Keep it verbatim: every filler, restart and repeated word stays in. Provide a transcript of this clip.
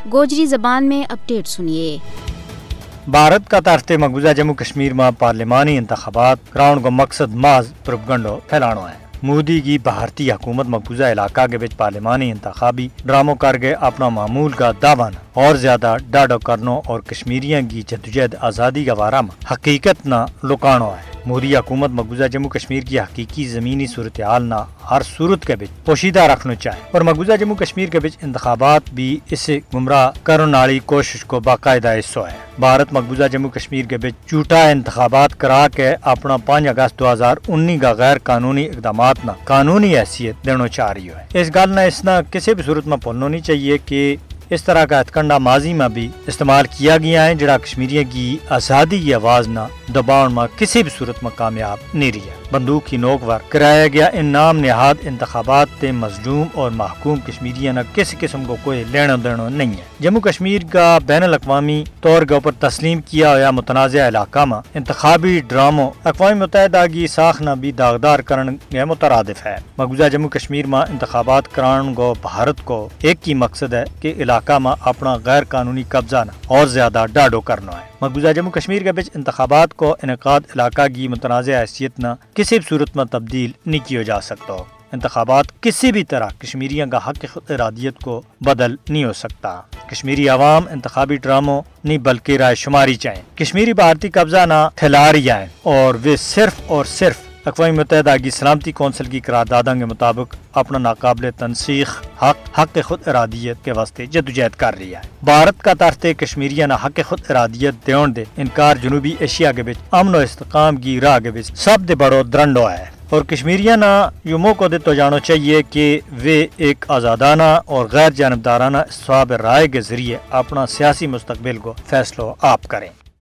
گوجری زبان میں اپڈیٹ سنیے۔ بھارت کا ترتے مقبوضہ جموں کشمیر ما پارلیمانی انتخابات کراؤن کو مقصد محض پروپگنڈو پھیلانو ہے۔ مودی کی بھارتی حکومت مقبوضہ علاقہ کے بچ پارلیمانی انتخابی ڈراموں کر کے اپنا معمول کا دعویٰ نا اور زیادہ ڈاڈو کرنو اور کشمیریاں کی جدوجہد آزادی کا وارہ ما حقیقت نا لکانو ہے۔ مودی حکومت مقبوضہ جموں کشمیر کی حقیقی زمینی صورتحال نا ہر صورت کے بچ پوشیدہ رکھنو چاہے اور مقبوضہ جموں کشمیر کے بچ انتخابات بھی اسے گمراہ کرن آلی کوشش کو باقاعدہ حصو ہے۔ بھارت مقبوضہ جموں کشمیر کے بچ جھوٹا انتخابات کرا کے اپنا پانچ اگست دو ہزار انی کا غیر قانونی اقدامات نا قانونی حیثیت دینو چاہ رہی ہے۔ اس گل نا اس نا کسی بھی صورت ما پھولنو نہیں چاہیے کہ اس طرح کا ہتھکنڈا ماضی ما بھی استعمال کیا گیا ہے جڑا کشمیریاں کی آزادی کی آواز نا دباؤن ما کسی بھی صورت ما کامیاب نہیں رہیا۔ بندوق کی نوک ور کرایا گیا ان نام نہاد انتخابات تے مظلوم اور محکوم کشمیریاں نا کسی قسم کو کوئی لینو دینو نہیں ہے۔ جموں کشمیر کا بین الاقوامی طور کے اوپر تسلیم کیا ہویا متنازعہ علاقہ ما انتخابی ڈراموں اقوام متحدہ کی ساخ نا بھی داغدار کرن کے مترادف ہے۔ مقبوضہ جموں کشمیر ما انتخابات کران کو بھارت کو ایک ہی مقصد ہے کہ علاقہ ما اپنا غیر قانونی قبضہ نا اور زیادہ ڈاڈو کرنو ہے۔ مقبوضہ جموں کشمیر کے بچ انتخابات کو انعقاد علاقہ کی متنازعہ حیثیت نا کسی بھی صورت ما تبدیل نہیں کیو جا سکتو۔ انتخابات کسی بھی طرح کشمیریاں کا حق خود ارادیت کو بدل نہیں ہو سکتا۔ کشمیری عوام انتخابی ڈراموں نہیں بلکہ رائے شماری چاہیں۔ کشمیری بھارتی قبضہ نا کھلاری آئیں اور وہ صرف اور صرف اقوام متحدہ کی سلامتی کونسل کی قرارداداں کے مطابق اپنا ناقابل تنسیخ حق حق خود ارادیت کے واسطے جدوجہد کر رہی ہے۔ بھارت کا ترتے کشمیریاں نا حق خود ارادیت دیون دے انکار جنوبی ایشیا کے بچ امن و استحکام کی راہ کے بچ سب دے بڑو درنڈو ہے۔ اور کشمیریاں نا یوہ موقع دتو جانو چاہیے کہ ویہ ایک آزادانہ اور غیر جانبدارانہ استصواب رائے کے ذریعے اپنا سیاسی مستقبل کو فیصلو آپ کریں۔